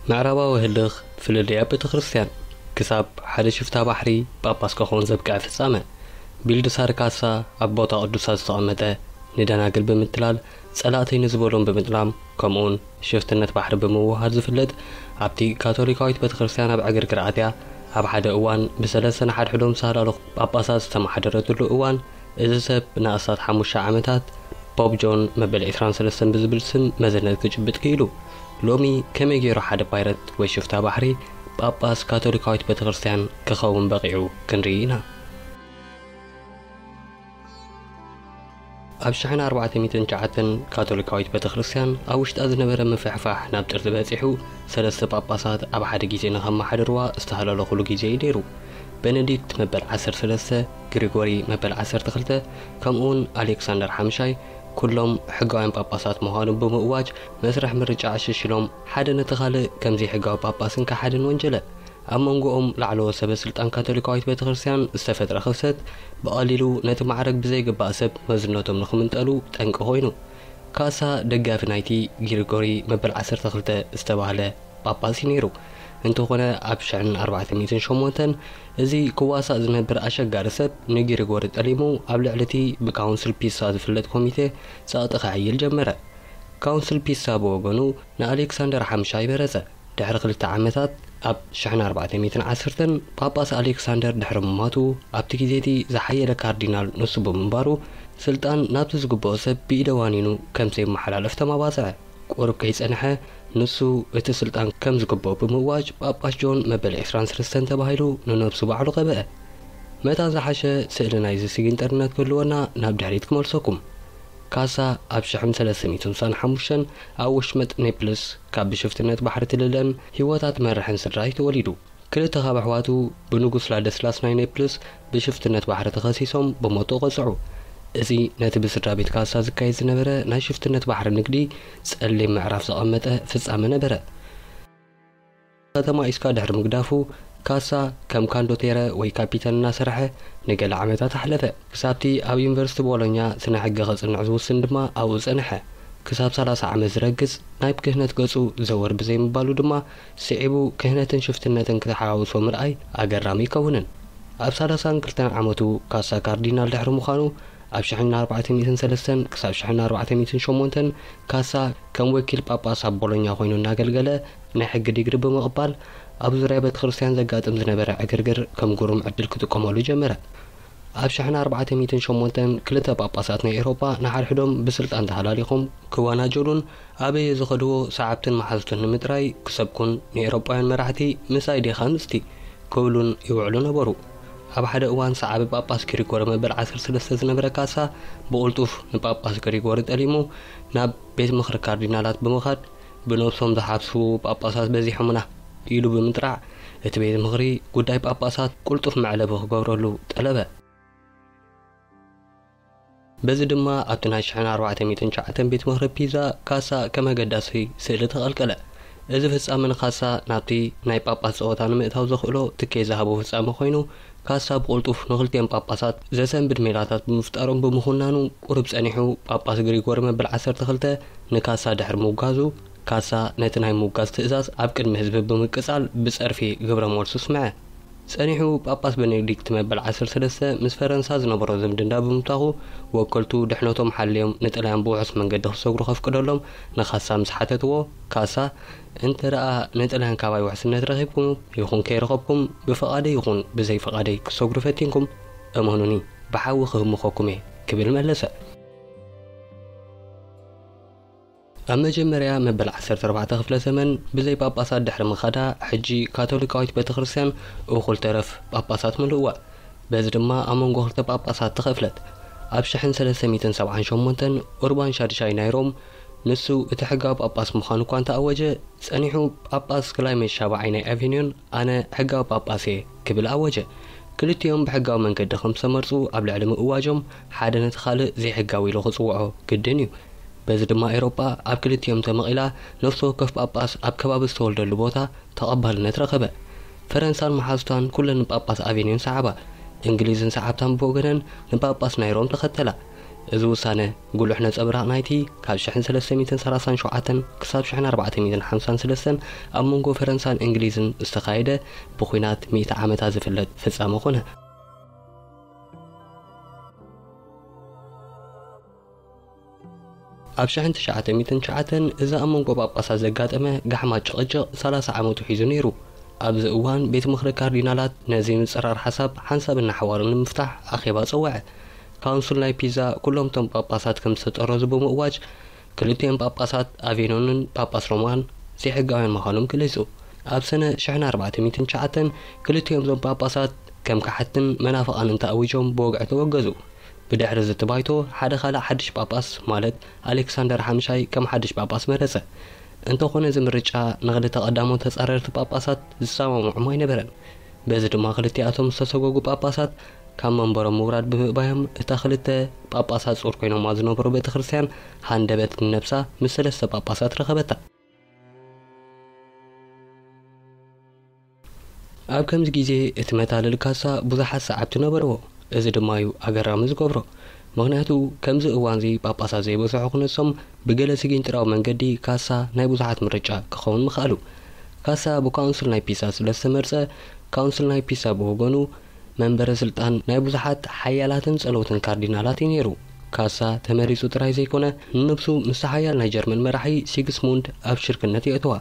ምዕራባዊ ህልኽ ፍልልይ ኣብ ቤተ ክርስቲያን ክሳብ ሓደ ሽፍታ ባሕሪ ጳጳስ ክኸውን ዘብቅዐ ፍጻመ። ቢልድሳር ካሳ ኣብ ቦታ ቅዱሳት ዝተቐመጠ ንደናግል ብምትላል ጸላእተይ ንዝበሎም ብምጥላም ከምኡውን ሽፍትነት ባሕሪ ብምውሃድ ዝፍለጥ ኣብቲ ካቶሊካዊት ቤተ ክርስቲያን ኣብ ዕግርግር ኣትያ ኣብ ሓደ እዋን ብሰለስተ ንሓድሕዶም ዝተሃላለኹ ጳጳሳት ዝተመሓደረትሉ እዋን እዚ ሰብ ንኣስታት ሓሙሽተ ዓመታት ፖፕ ጆን መበል ዕስራን ሰለስተን ብዝብል ስም መዝነት ክጭብጥ ክኢሉ። ሎሚ ከመይ ገይሩ ሓደ ፓይረት ወይ ሽፍታ ባሕሪ ጳጳስ ካቶሊካዊት ቤተክርስትያን ክኸውን በቒዑ ክንርኢ ኢና። ኣብ ሽሕን ኣርባዕተ ሚእትን ትሽዓተን ካቶሊካዊት ቤተክርስትያን ኣብ ውሽጣ ዝነበረ ምፍሕፋሕ ናብ ጥርዚ በጺሑ ሰለስተ ጳጳሳት ኣብ ሓደ ግዜ ንኸመሓድርዋ ዝተሃላለኹሉ ግዜ እዩ ነይሩ። ቤኔዲክት መበል ዓሰርተ ሰለስተ፣ ግሪጎሪ መበል ዓሰርተ ክልተ ከምኡውን ኣሌክሳንደር ሓምሻይ ኩሎም ሕጋውያን ጳጳሳት ምዃኖም ብምእዋጅ መስርሕ ምርጫ ኣሸሽሎም ሓደ ነቲ ካልእ ከም ዘይሕጋዊ ጳጳስን ከሓድን ወንጀለ። ኣብ መንጎኦም ላዕለዎት ሰበ ስልጣን ካቶሊካዊት ቤተክርስትያን ዝተፈጥረ ክፍተት ብቐሊሉ ነቲ ማዕረግ ብዘይግባእ ሰብ መዝነቶም ንኽምንጠሉ ጠንቂ ኮይኑ። ካሳ ደጋፊ ናይቲ ግሪጎሪ መበል ዓሰርተ ክልተ ዝተባህለ ጳጳስ እዩ ነይሩ። እንተኾነ ኣብ ሽሕን ኣርባዕተ ሚእትን ሸሞንተን እዚ ክዋሳእ ዝነብር ኣሸጋሪ ሰብ ንግሪጎሪ ጠሊሙ ኣብ ልዕሊ እቲ ብካውንስል ፒሳ ዝፍለጥ ኮሚቴ ጸቕጢ ከዕይል ጀመረ። ካውንስል ፒሳ ብወገኑ ንኣሌክሳንደር ሓምሻይ መረጸ። ድሕሪ ክልተ ዓመታት ኣብ ሽሕን ኣርባዕተ ሚእትን ዓሰርተን ጳጳስ ኣሌክሳንደር ድሕሪ ምማቱ ኣብቲ ግዜ እቲ ዝሓየለ ካርዲናል ንሱ ብምንባሩ ስልጣን ናብቲ ዝግብኦ ሰብ ብኢደ ዋኒኑ ከም ዘየመሓላልፍ ተመባጽዐ። ቁሩብ ከይጸንሐ ንሱ እቲ ስልጣን ከም ዝግብኦ ብምእዋጅ ጳጳስ ጆን መበል ዕስራን ሰለስተን ተባሂሉ ንነብሱ ባዕሉ ቀብአ። መታን ዝሓሸ ስእሊ ናይዚ ስጊንጠርነት ክህልወና ናብ ድሕሪት ክመልሰኩም። ካሳ ኣብ ሽሕን ሰለስተ ሚእትን ስሳን ሓሙሽተን ኣብ ወሽመጥ ኔፕልስ ካብ ብሽፍትነት ባሕሪ ትልለን ህይወታ ትመርሕን ስድራ እዩ ተወሊዱ። ክልተ ካብ ኣሕዋቱ ብንጉስ ላደስላስ ናይ ኔፕልስ ብሽፍትነት ባሕሪ ተኸሲሶም ብሞት ተቐጽዑ። እዚ ነቲ ብስድራ ቤት ካሳ ዝካየድ ዝነበረ ናይ ሽፍትነት ባሕሪ ንግዲ ጸሊም ምዕራፍ ዘቐመጠ ፍጻመ ነበረ። ከተማ ኢስካ ድሕሪ ምግዳፉ ካሳ ከም ካንዶቴረ ወይ ካፒተን እናሰርሐ ንገለ ዓመታት ኣሕለፈ። ክሳብቲ ኣብ ዩኒቨርሲቲ ቦሎኛ ስነ ሕገ ከጽንዕ ዝውስን ድማ ኣብኡ ጸንሐ። ክሳብ ሰላሳ ዓመት ዝረግጽ ናይ ክህነት ገጹ ዘወር ብዘይምባሉ ድማ ስዒቡ ክህነትን ሽፍትነትን ክተሓዋውሶ ምርኣይ ኣገራሚ ኣይከውንን። ኣብ ሰላሳን ክልተን ዓመቱ ካሳ ካርዲናል ድሕሪ ምዃኑ ኣብ ሽሕን ኣርባዕተ ሚእትን ሰለስተን ክሳብ ሽሕን ኣርባዕተ ሚእትን ሸሞንተን ካሳ ከም ወኪል ጳጳስ ኣብ ቦሎኛ ኮይኑ እናገልገለ ናይ ሕጊ ዲግሪ ብምቕባል ኣብ ዙርያ ቤተ ክርስቲያን ዘጋጥም ዝነበረ ዕግርግር ከም ግሩም ዕድል ክጥቀመሉ ጀመረ። ኣብ ሽሕን ኣርባዕተ ሚእትን ሸሞንተን ክልተ ጳጳሳት ናይ ኤውሮጳ ንሓድሕዶም ብስልጣን ተሃላሊኾም ክወናጀሉን ኣበየ ዝኸድዎ ሰዓብትን መሓዙትን ንምጥራይ ክሰብኩን ንኤውሮጳውያን መራሕቲ ምሳይ ዲኻ ምስቲ ክብሉን ይውዕሉ ነበሩ። ኣብ ሓደ እዋን ሰዓቢ ጳጳስ ግሪጎሪ መበል ዓሰርተ ሰለስተ ዝነበረ ካሳ ብቕልጡፍ ንጳጳስ ግሪጎሪ ጠሊሙ ናብ ቤት ምኽሪ ካርዲናላት ብምኻድ ብነብሶም ዝሓስቡ ጳጳሳት በዚሖምና ኢሉ ብምጥራዕ እቲ ቤት ምኽሪ ጉዳይ ጳጳሳት ቅልጡፍ መዕለቢ ክገብረሉ ጠለበ። በዚ ድማ ኣብቲ ናይ ሽሕን ኣርባዕተ ሚእትን ትሽዓተን ቤት ምኽሪ ፒዛ ካሳ ከም ኣገዳሲ ስእሊ ተቐልቀለ። እዚ ፍጻመ ንካሳ ናብቲ ናይ ጳጳስ ጸወታ ንምእታው ዘኽእሎ ትኬት ዝሃቦ ፍጻመ ኮይኑ፣ ካሳ ብቕልጡፍ ንኽልቲኦም ጳጳሳት ዘሰንብድ ሜላታት ብምፍጣሮም ብምኹናኑ ቁሩብ ጸኒሑ ጳጳስ ግሪጎሪ መበል ዓሰርተ ክልተ ንካሳ ድሕሪ ምውጋዙ፣ ካሳ ነቲ ናይ ምውጋዝ ትእዛዝ ኣብ ቅድሚ ህዝቢ ብምቅጻል ብጸርፊ ግብረ መልሱ ኣስምዐ። ጸኒሑ ጳጳስ ቤኔዲክት መበል ዓሰርተ ሰለስተ ምስ ፈረንሳ ዝነበሮ ዝምድና ብምብታኹ፣ ወከልቱ ድሕነቶም ሓልዮም ንጥልያን ብውሑስ መንገዲ ክሰግሩ ከፍቅደሎም ንካሳ ምስ ሓተትዎ፣ ካሳ፣ "እንተ ደኣ ንጥልያን ካባይ ውሕስነት ረኺብኩም ይኹን ከይረኸብኩም፣ ብፍቓደይ ይኹን ብዘይ ፍቓደይ ክሰግሩ ፈቲንኩም፣ እመኑኒ፣ ብሓዊ ክህምኸኩም እየ" ክብል መለሰ። ኣብ መጀመርያ መበል ዓሰርተ ኣርባዕተ ክፍለ ዘመን ብዘይ ጳጳሳት ድሕሪ ምኻዳ፣ ሕጂ ካቶሊካዊት ቤተክርስትያን እኹል ተረፍ ጳጳሳት ምልእዋ። በዚ ድማ ኣብ መንጎ ክልተ ጳጳሳት ተኸፍለት። ኣብ ሽሕን ሰለስተ ሚእትን ሰብዓን ሸሞንተን ኡርባን ሻድሻይ ናይ ሮም፣ ንሱ እቲ ሕጋዊ ጳጳስ ምዃኑ እኳ እንተኣወጀ፣ ጸኒሑ ጳጳስ ክላይሜንት ሻብዓይ ናይ ኣቬንዮን ኣነ ሕጋዊ ጳጳስ እየ ክብል ኣወጀ። ክልቲኦም ብሕጋዊ መንገዲ ከም ዝተመርጹ ኣብ ልዕሊ ምእዋጆም፣ ሓደ ነቲ ካልእ ዘይሕጋዊ ኢሉ ክጽውዖ ግድን እዩ። በዚ ድማ ኤውሮጳ ኣብ ክልቲኦም ተመቒላ፣ ነፍሲ ወከፍ ጳጳስ ኣብ ከባቢ ዝተወልደሉ ቦታ ተቐባልነት ረኸበ። ፈረንሳን መሓዙታን ኩለን ንጳጳስ ኣቬንዮን ሰዓባ። እንግሊዝን ሰዓብታን ብወገነን ንጳጳስ ናይ ሮም ተኸተላ። እዚ ውሳነ፣ ጉሉሕ ነጸብራቕ ናይቲ ካብ ሽሕን ሰለስተ ሚእትን ሰላሳን ሸውዓተን ክሳብ ሽሕን ኣርባዕተ ሚእትን ሓምሳን ሰለስተን ኣብ መንጎ ፈረንሳን እንግሊዝን ዝተኻየደ ብኹናት ሚእቲ ዓመታት ዝፍለጥ ፍጻመ ኾነ። ኣብ ሽሕን ትሽዓተ ሚእትን ትሽዓተን እዚ ኣብ መንጎ ጳጳሳት ዘጋጠመ ጋሕማ ጭቕጭቕ ሰላሳ ዓመቱ ሒዙ ነይሩ። ኣብዚ እዋን ቤት ምኽሪ ካርዲናላት ነዚ ምጽራር ሓሳብ ሓንሳብን ንሓዋሩን ንምፍታሕ ኣኼባ ጸውዐ። ካውንስል ናይ ፒዛ ኩሎም እቶም ጳጳሳት ከም ዝተጠረዙ ብምእዋጅ፣ ክልቲኦም ጳጳሳት ኣቬኖንን ጳጳስ ሮማን ዘይሕጋውያን ምዃኖም ገሊጹ። ኣብ ሰነ ሽሕን ኣርባዕተ ሚእትን ትሽዓተን ክልቲኦም እዞም ጳጳሳት ከም ከሓድትን መናፍቓንን ተኣዊጆም ብወግዒ ተወገዙ። ብድሕሪ እዚ እቲ ባይቶ ሓደ ካልእ ሓድሽ ጳጳስ፣ ማለት ኣሌክሳንደር ሓምሻይ ከም ሓድሽ ጳጳስ መረጸ። እንተኾነ እዚ ምርጫ ንኽልተ ቀዳሞት ተጻረርቲ ጳጳሳት ዝሰማምዖም ኣይነበረን። በዚ ድማ ክልቲኣቶም ዝተሰጎጉ ጳጳሳት ካብ መንበሮም ምውራድ ብምእባዮም፣ እታ ክልተ ጳጳሳት ጾር ኮይኖማ ዝነበሩ ቤተ ክርስቲያን ሃንደበት ንነብሳ ምስ ሰለስተ ጳጳሳት ረኸበታ። ኣብ ከምዚ ግዜ እቲ መታለሊ ካሳ ብዙሓት ሰዓብቲ ነበርዎ። እዚ ድማ እዩ ኣገራሚ ዝገብሮ። ምኽንያቱ ከምዚ እዋንዚ ጳጳሳት ዘይበዝሑ ክነሶም ብገለ ስጊንጥራዊ መንገዲ ካሳ ናይ ብዙሓት ምርጫ ክኸውን ምኽኣሉ። ካሳ ብካውንስል ናይ ፒሳ ስለ ዝተመርጸ፣ ካውንስል ናይ ፒሳ ብወገኑ መንበረ ስልጣን ናይ ብዙሓት ሓያላትን ጸለውትን ካርዲናላት እዩ ነይሩ። ካሳ ተመሪጹ ጥራይ ዘይኮነ፣ ንነብሱ ምስ ሓያል ናይ ጀርመን መራሒ ሲግስሙንድ ኣብ ሽርክነት የእተዋ።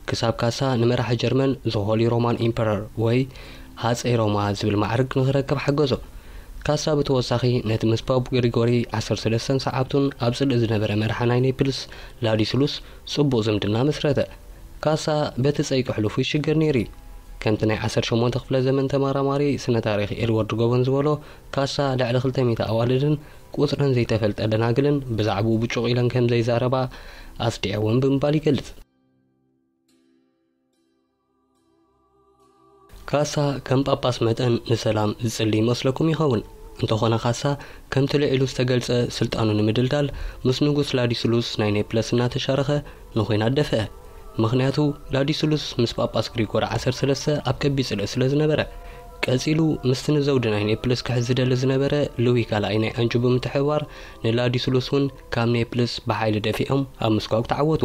ክሳብ ካሳ ንመራሒ ጀርመን ዘ ሆሊ ሮማን ኢምፐረር ወይ ሃጸይ ሮማ ዝብል ማዕርግ ንኽረክብ ሓገዞ። ካሳ ብተወሳኺ ነቲ ምስ ፖፕ ግሪጎሪ ዓሰርተ ሰለስተን ሰዓብቱን ኣብ ጽልኢ ዝነበረ መራሒ ናይ ኔፕልስ ላዲስሉስ ጽቡቕ ዝምድና መስረተ። ካሳ በቲ ጸይቂ ሕሉፉ ይሽገር ነይሩ እዩ። ከምቲ ናይ ዓሰርተ ሸሞንተ ክፍለ ዘመን ተመራማሪ ስነ ታሪኽ ኤድዋርድ ጎበን ዝበሎ፣ ካሳ ልዕሊ ክልተ ሚእቲ ኣዋልድን ቁጽረን ዘይተፈልጠ ደናግልን ብዛዕባኡ ብጩቕ ኢለን ከም ዘይዛረባ ኣስዲዐወን ብምባል ይገልጽ። ካሳ ከም ጳጳስ መጠን ንሰላም ዝጽሊ ይመስለኩም ይኸውን። እንተኾነ ካሳ ከምቲ ልዒሉ ዝተገልጸ ስልጣኑ ንምድልዳል ምስ ንጉስ ላዲስሉስ ናይ ኔፕለስ እናተሻረኸ ንኹናት ደፍአ። ምኽንያቱ ላዲስሉስ ምስ ጳጳስ ግሪጎሪ ዓሰርተ ሰለስተ ኣብ ከቢድ ጽልኢ ስለ ዝነበረ። ቀጺሉ ምስቲ ንዘውዲ ናይ ኔፕልስ ክሕዝ ዝደሊ ዝነበረ ሉዊ ካልኣይ ናይ ኣንጁ ብምትሕብባር ንላዲስሉስ እውን ካብ ኔፕልስ ብሓይሊ ደፊኦም ኣብ ምስጓግ ተዓወቱ።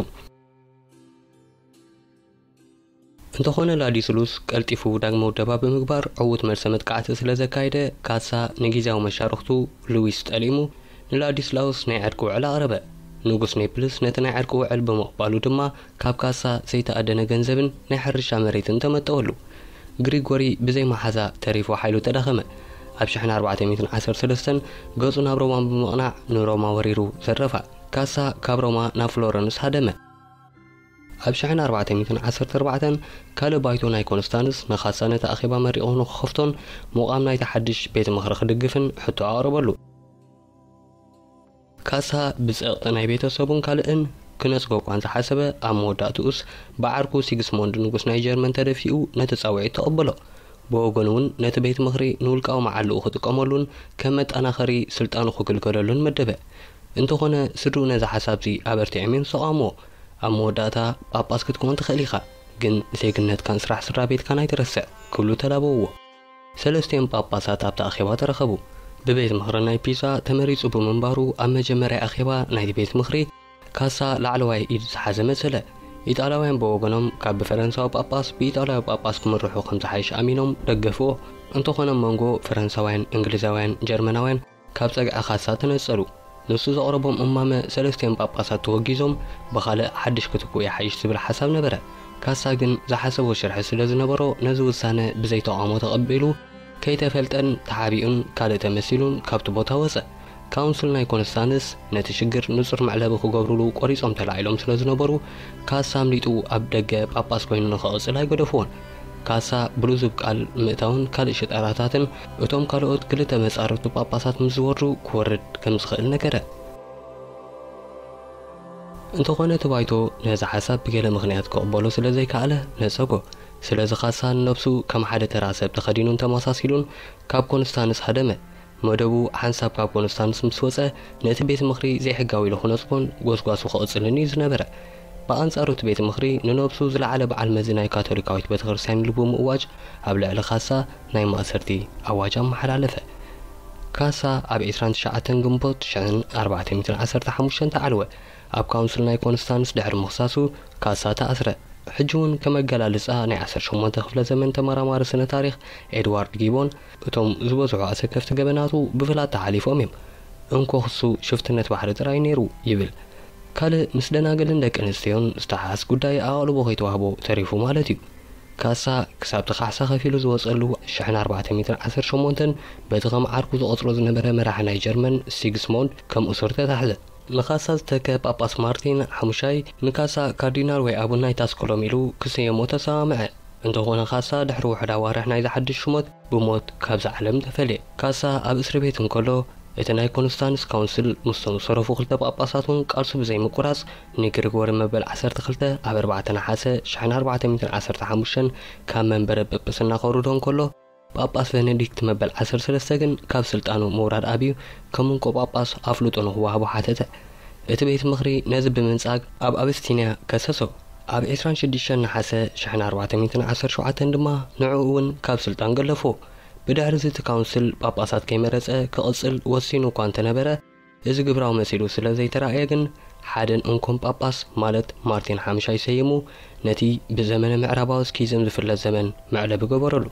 እንተኾነ ላዲስሉስ ቀልጢፉ ዳግመ ውደባ ብምግባር ዕዉት መልሰ መጥቃዕቲ ስለ ዘካየደ፣ ካሳ ንጊዜያዊ መሻርኽቱ ሉዊስ ጠሊሙ ንላዲስላውስ ናይ ዕርቂ ውዕል ኣቕረበ። ንጉስ ኔፕልስ ነቲ ናይ ዕርቂ ውዕል ብምቕባሉ ድማ ካብ ካሳ ዘይተኣደነ ገንዘብን ናይ ሕርሻ መሬትን ተመጠወሉ። ግሪጎሪ ብዘይ መሓዛ ተሪፉ ሓይሉ ተዳኸመ። ኣብ ሽሕን ኣርባዕተ ሚእትን ዓሰርተ ሰለስተን ገጹ ናብ ሮማ ብምቕናዕ ንሮማ ወሪሩ ዘረፋ። ካሳ ካብ ሮማ ናብ ፍሎረንስ ሃደመ። ኣብ ሽሕን ኣርባዕተ ሚእትን ዓሰርተ ኣርባዕተን ካልእ ባይቶ ናይ ኮንስታንስ ንኻሳ ነቲ ኣኼባ መሪቑ ንኽኸፍቶን ምቋም ናይቲ ሓድሽ ቤት ምኽሪ ክድግፍን ሕቶ ኣቕረበሉ። ካሳ ብጸቕጢ ናይ ቤተሰቡን ካልእን ክነጽጎ እኳ እንተሓሰበ፣ ኣብ መወዳእትኡስ ብዓርኩ ሲግስሞንድ ንጉስ ናይ ጀርመን ተደፊኡ ነቲ ጻውዒት ተቐበሎ። ብወገኑ እውን ነቲ ቤት ምኽሪ ንውልቃዊ መዓልኡ ክጥቀመሉን ከም መጠናኸሪ ስልጣኑ ክግልገለሉን መደበ። እንተኾነ ስድርኡ ነዚ ሓሳብዚ ኣበርቲዖም እዮም ዝተቓወምዎ። ኣብ መወዳእታ ጳጳስ ክትከውን ትኽእል ኢኻ፣ ግን ዜግነትካን ስራሕ ስድራ ቤትካን ኣይትረስዕ ክብሉ ተላበውዎ። ሰለስቲኦም ጳጳሳት ኣብቲ ኣኼባ ተረኸቡ። ብቤት ምኽሪ ናይ ፒዛ ተመሪጹ ብምንባሩ ኣብ መጀመርያ ኣኼባ ናይቲ ቤት ምኽሪ ካሳ ላዕለዋይ ኢድ ዝሓዘ መሰለ። ኢጣልያውያን ብወገኖም ካብ ብፈረንሳዊ ጳጳስ ብኢጣልያዊ ጳጳስ ክምርሑ ከም ዝሓይሽ ኣሚኖም ደገፍዎ። እንተኾነ መንጎ ፈረንሳውያን፣ እንግሊዛውያን፣ ጀርመናውያን ካብ ጸግዒ ካሳ ተነጸሉ። ንሱ ዘቕረቦም እማመ ሰለስቲኦም ጳጳሳት ተወጊዞም ብኻልእ ሓድሽ ክትክኡ ይሓይሽ ዝብል ሓሳብ ነበረ። ካሳ ግን ዝሓሰቦ ሽርሒ ስለ ዝነበሮ ነዚ ውሳነ ብዘይተቓውሞ ተቐቢሉ ከይተፈልጠን ተሓቢኡን ካልእ ተመሲሉን ካብቲ ቦታ ወጸ። ካውንስል ናይ ኮንስታንስ ነቲ ሽግር ንጹር መዕለቢ ክገብሩሉ ቆሪጾም ተላዒሎም ስለ ዝነበሩ ካሳ ኣምሊጡ ኣብ ደገ ጳጳስ ኮይኑ ንኽቕጽል ኣይገደፍዎን። ካሳ ብልዙብ ቃል ምእታውን ካልእ ሽጣራታትን እቶም ካልኦት ክልተ መጻርፍቲ ጳጳሳት ምስ ዝወርዱ ክወርድ ከም ዝኽእል ነገረ። እንተኾነ እቲ ባይቶ ነዚ ሓሳብ ብገለ ምኽንያት ክቕበሎ ስለ ዘይከኣለ ነጸጎ። ስለዚ ካሳ ንነብሱ ከም ሓደ ተራ ሰብ ተኸዲኑን ተመሳሲሉን ካብ ኮንስታንስ ሃደመ። መደቡ ሓንሳብ ካብ ኮንስታንስ ምስ ወጸ፣ ነቲ ቤት ምኽሪ ዘይሕጋዊ ኢሉ ክነጽጎን ጎስጓሱ ክቕጽልን እዩ ዝነበረ። ብኣንጻሩ እቲ ቤት ምኽሪ ንነብሱ ዝለዓለ በዓል መዚ ናይ ካቶሊካዊት ቤተክርስትያን ኢሉ ብምእዋጅ ኣብ ልዕሊ ካሳ ናይ ማእሰርቲ ኣዋጅ ኣመሓላለፈ። ካሳ ኣብ ዕስራን ትሽዓተን ግንቦት ሽሕን ኣርባዕተ ሚእትን ዓሰርተ ሓሙሽተን ተዓልወ። ኣብ ካውንስል ናይ ኮንስታንስ ድሕሪ ምኽሳሱ ካሳ ተኣስረ። ሕጂ እውን ከም ኣገላልጻ ናይ ዓሰርተ ሸሞንተ ክፍለ ዘመን ተመራማሪ ስነ ታሪኽ ኤድዋርድ ጊቦን፣ እቶም ዝበዝሑ ኣሰከፍቲ ገበናቱ ብፍላጥ ተሓሊፎም እዮም። እንኮ ክሱ ሽፍትነት ባሕሪ ጥራይ ነይሩ ይብል። ካልእ ምስ ደናግልን ደቂ ኣንስትዮን ዝተሓሓዝ ጉዳይ ኣቓልቦ ከይተዋህቦ ተሪፉ ማለት እዩ። ካሳ ክሳብ እቲ ካሕሳ ከፊሉ ዝወጸሉ ሽሕን ኣርባዕተ ሚእትን ዓሰርተ ሸሞንተን በቲ ከም ዓርኩ ዝቖጽሮ ዝነበረ መራሒ ናይ ጀርመን ሲግስሞንድ ከም እሱር ተታሕዘ። ንካሳ ዝተከ ጳጳስ ማርቲን ሓሙሻይ ንካሳ ካርዲናል ወይ ኣቡን ናይታ ስኮሎም ኢሉ ክስየሞ ተሰማምዐ። እንተኾነ ካሳ ድሕሪ ውሑድ ኣዋርሕ ናይዚ ሓድሽ ሽሞት ብሞት ካብዛ ዓለም ተፈልየ። ካሳ ኣብ እስሪ ቤት እንከሎ እቲ ናይ ኮንስታንስ ካውንስል ምስቶም ዝተረፉ ክልተ ጳጳሳት እውን ቃልሱ ብዘይምቁራጽ ንግሪጎሪ መበል ዓሰርተ ክልተ ኣብ ኣርባዕተ ነሓሰ ሽሕን ኣርባዕተ ሚእትን ዓሰርተ ሓሙሽተን ካብ መንበረ ጵጵስና ከውርዶ እንከሎ፣ ጳጳስ ቨነዲክት መበል ዓሰርተ ሰለስተ ግን ካብ ስልጣኑ ምውራድ ኣብዩ ከም እንኮ ጳጳስ ኣፍልጦ ንክወሃቦ ሓተተ። እቲ ቤት ምኽሪ ነዚ ብምንጻግ ኣብ ኣብስቲንያ ከሰሶ። ኣብ ዕስራን ሽዱሽተን ነሓሰ ሽሕን ኣርባዕተ ሚእትን ዓሰርተ ሸውዓተን ድማ ንዕኡ እውን ካብ ስልጣን ገለፎ። ብድሕሪ እዚ እቲ ካውንስል ጳጳሳት ከይመረጸ ክቕጽል ወሲኑ እኳ እንተነበረ፣ እዚ ግብራዊ መሲሉ ስለ ዘይተራእየ ግን ሓደን እንኮን ጳጳስ ማለት ማርቲን ሓምሻይ ሰይሙ ነቲ ብዘመነ ምዕራባዊ ስኪዝም ዝፍለጥ ዘመን መዕለቢ ገበረሉ።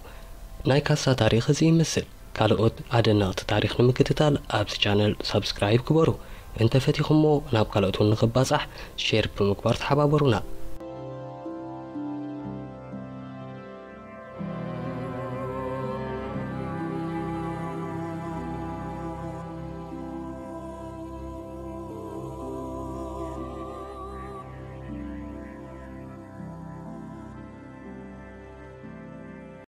ናይ ካሳ ታሪኽ እዚ ይመስል። ካልኦት ኣደነቕቲ ታሪኽ ንምክትታል ኣብዚ ቻነል ሳብስክራይብ ግበሩ። እንተፈቲኹሞ ናብ ካልኦት እውን ንኽባጻሕ ሼር ብምግባር ተሓባበሩና።